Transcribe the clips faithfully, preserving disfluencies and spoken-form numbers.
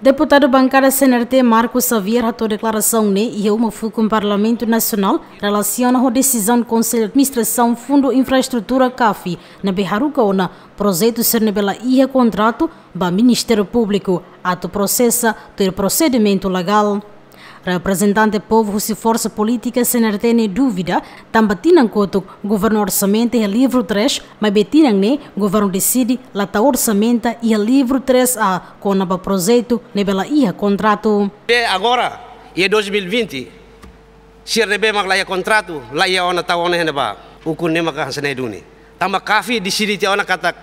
Deputadu bankada C N R T Marcos Xavier hato'o deklarasaun ne'e iha uma fukun Parlamentu Nasionál relasiona ho desizaun Konsellu Administrasaun Fundu Infraestrutura, CAFI, ne'ebé haruka ona projetu sira ne'ebé la iha kontratu ba Ministériu Públiku atu prosesa tuir prosedimentu legál. Reprezentante povu husi forsa polítika C N R T ne'e duvida, tanba tinan kotuk governu orsamentu iha livru três, maibé tinan ne'e governu deside la tau orsamentu iha livru três A kona-ba projetu ne'ebé la iha kontratu. Be agora, iha dois mil e vinte, sira ne'ebé mak la iha kontratu, la iha ona tau ona iha ne'ebá. Ukun ne'e maka hanesan ne'e duni. Tanba CAFI deside tiha ona katak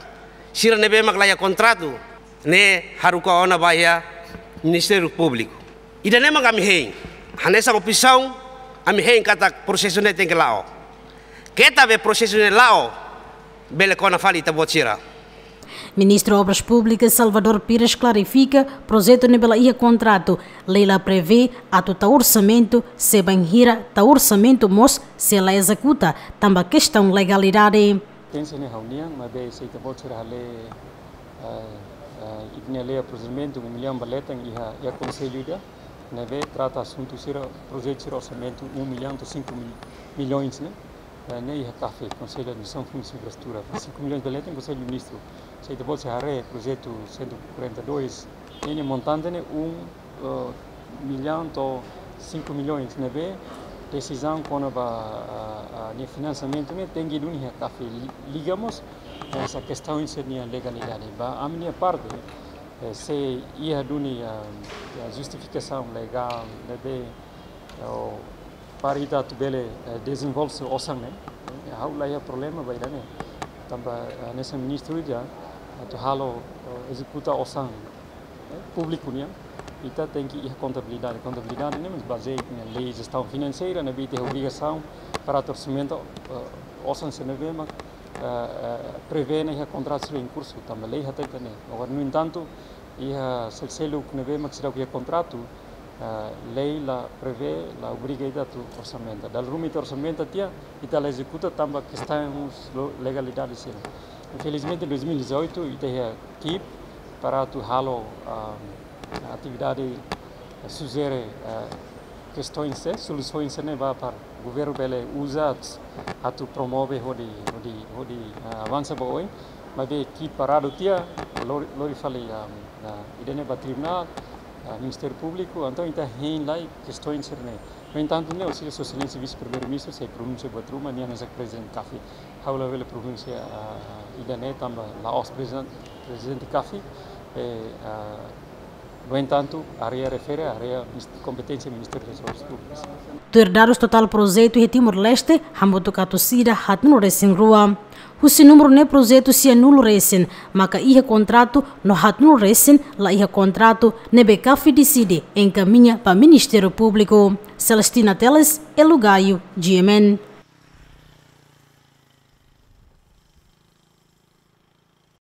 sira ne'ebé mak la iha kontratu ne'e haruka ona ba iha Ministériu Públiku. Ida-ne'e mak ami hein. Hanesan oposisaun, ami hein katak prosesu ne'e tenke la'o. Keta be prosesu ne'e la'o, bele kona fali ita-boot sira. Ministru Obras Públikas Salvador Pires klarifika, projetu ne'ebé la iha kontratu, lei la prevee atu tau orsamentu, se bainhira tau orsamentu mós sei la ezekuta, tanba kestaun legalidade. Pensa ne'e ha'u nian, maibé se ita-boot sira haree, eh, eh, ita-nia lei prosedimentu, um milhão ba leten iha, iha konsellu ida, ne'ebé trata asuntu sira, projetu sira orsamentu um milhão to'o cinco mil, milhões, ne'e? Eh, ne'e iha CAFI, Konsellu Administrasaun Fundu Infraestrutura, cinco milhões ba leten Konsellu Ministru. Se ita-boot sira haree projetu cento e quarenta e dois, ne'e montante ne'e um, eh, milhão to'o cinco milhões, ne'ebé desizaun kona-ba, ah, ah, nia finansiamentu ne'e tenke duni iha CAFI, li-, liga mós hanesan kestaun sira-nia legalidade. Ba ami-nia parte, eh, se iha duni, ah, ah, justifikasaun legál, ne'ebé, eh, para ita atu bele, eh, dezenvolve osan ne'e, eh, ha'u la iha problema ba ida-ne'e. Tanba, eh, hanesan ministru ida atu halo, eh, ezekuta osan, eh, públiku nian, ita tenke iha kontabilidade. Kontabilidade ne'e mós bazeia iha lei jestaun finanseira, ne'ebé ita iha obrigasaun para tau orsamentu, eh, osan sira ne'ebé mak, eh, eh, prevee ona iha kontratu sira em curso, tanba lei hateten ne'e. Agora, no entanto, iha selu-seluk ne'ebé mak seidauk iha kontratu, eh, lei la prevee, la obriga ita atu orsamentu. Dala ruma ita orsamentu tiha, ita la ezekuta tanba kestaun legalidade sira. Infelizmente, dois mil e dezoito, ita iha ekipa para atu halo, ah, atividade, eh, sujere, eh, kestaun sira, solusaun sira ne'ebá para governu bele uza atu promove hodi, hodi, hodi, eh, avansa ba oin. Maibé ekipa paradu tiha, lori, lori fali, ah, ah, ida-ne'e ba tribunál, ah, Ministériu Públiku, entaun ita hein lai kestaun sira-ne'e. No entanto, ne'e, Sua Exelénsia Vise-Primeiru-Ministru sei pronunsia buat ruma, nia hanesan prezidente CAFI. Ha'u labele pronunsia, ah, ida-ne'e tanba la'ós prezidente, prezidente CAFI, eh, ah, no entanto, área refere, área mis-, kompeténsia Ministériu das Obras Públikas. Tuir dadus totál projetu iha Timor-Leste, hamutuk atus ida haatnulu resin rua. Husi númeru ne'e projetu sianulu resin maka iha kontratu no haatnulu resin la iha kontratu, ne'ebé CAFI deside enkamiña ba Ministériu Públiku. Celestina Teles, Elo Gaio, G M N.